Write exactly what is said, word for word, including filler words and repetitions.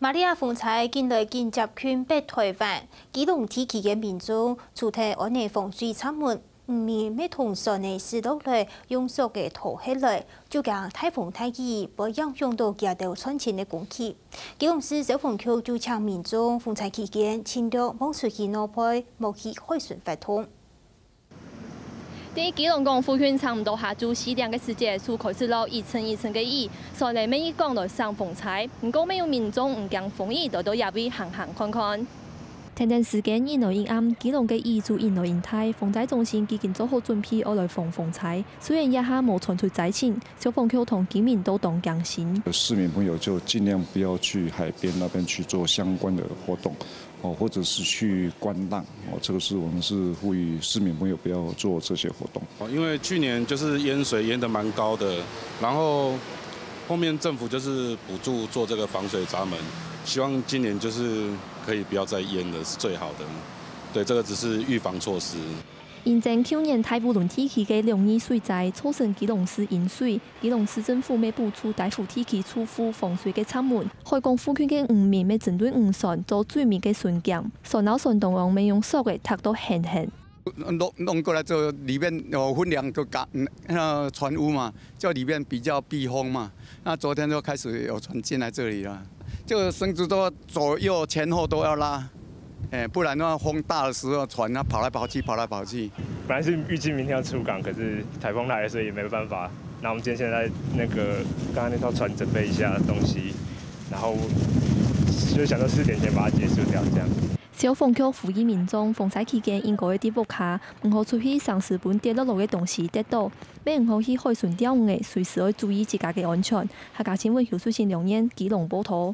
瑪利亞風颱近來緊接近北台灣，基隆地區个民眾除忒安呢防水閘門，毋免乜同船仔駛落來，用索仔拖忒來，就驚大風大雨會影響到佢兜賺錢个工具。基隆市消防局就請民眾風颱期間盡量莫出去外背，莫去海脣活動。 在基隆港附近差毋多下晝四點个時節，就開始落一陣一陣个雨，雖然乜一講來省風颱，毋過乜有民眾毋驚風雨，來到這位行行看看。跈等時間一來一暗，基隆个雨就一來一大，防災中心已經做好準備，愛來防風颱。雖然這下無傳出災情，消防局同居民都當驚心。市民朋友就盡量不要去海邊那邊去做相關的活動，哦，或者是去觀浪，哦，這個是我們是呼籲市民朋友不要做這些活動。哦，因為去年就是淹水淹得蠻高的，然後後面政府就是補助做這個防水閘門，希望今年就是可以不要再淹了，是最好的。對，這個只是預防措施。因應舊年大武崙地區个兩二水災，造成基隆市淹水，基隆市政府乜補助大武地區住戶防水个閘門。海港附近个漁民乜針對漁船做水面个巡檢，船摎船頭項乜用索仔綯到絚絚。弄，弄過來之後，裡面有分量就加，嗯，那船屋嘛，就裡面比較避風嘛。那昨天就開始有船進來這裡了，就繩子都左右前後都要拉，哎，不然的話風大的時候，船它跑來跑去，跑來跑去。本來是預計明天要出港，可是颱風來了，所以也沒辦法。那我們今天現在那個，剛剛那艘船準備一下東西，然後就想說四點前把它結束掉，這樣。 消防局呼籲民眾，防災期間應該愛在屋下，毋好出去，成時分跌落來个東西跌倒，乜毋好去海脣釣魚仔，隨時愛注意自家个安全。客家新聞邱淑欣、梁燕，基隆報導。